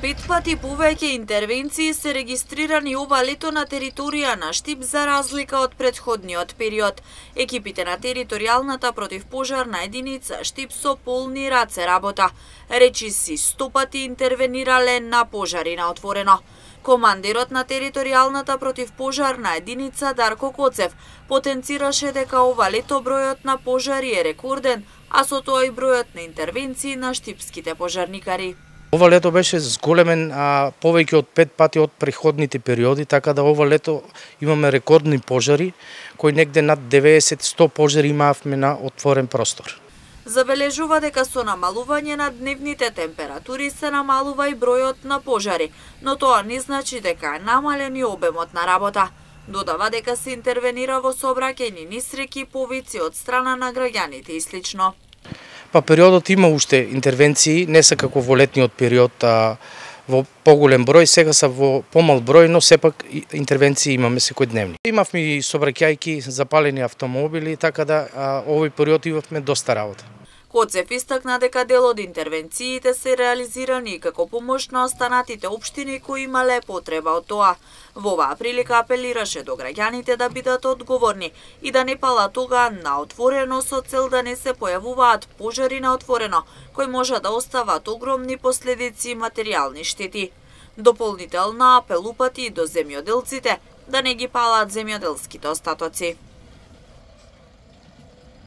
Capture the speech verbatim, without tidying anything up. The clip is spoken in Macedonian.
Пет пати повеќе интервенции се регистрирани ова лето на територија на Штип за разлика од претходниот период. Екипите на територијалната противпожарна единица Штип со полни раце работа. Речиси сто пати интервенирале на пожари на отворено. Командирот на територијалната противпожарна единица Дарко Коцев потенцираше дека ова лето бројот на пожари е рекорден, а со тоа и бројот на интервенции на штипските пожарникари. Ова лето беше зголемен а, повеќе од пет пати од претходните периоди, така да ова лето имаме рекордни пожари, кои негде над деветдесет до сто пожари имавме на отворен простор. Забележува дека со намалување на дневните температури се намалува и бројот на пожари, но тоа не значи дека е намален и обемот на работа. Додава дека се интервенира во сообраќајни несреќи, повици од страна на граѓаните и слично. Па периодот има уште интервенции, не се како во летниот период а, во поголем број, сега се во помал број, но сепак интервенции имаме секојдневни. Имавме и сообраќајки, запалени автомобили, така да а, овој период имавме доста работа. Коцев истакна дека дел од интервенциите се реализирани како помош на останатите општини кои имале потреба од тоа. Во оваа прилика апелираше до граѓаните да бидат одговорни и да не палат тога на отворено со цел да не се појавуваат пожари на отворено, кои може да остават огромни последици и материјални штети. Дополнителна апел упати до земјоделците да не ги палат земјоделските остатоци.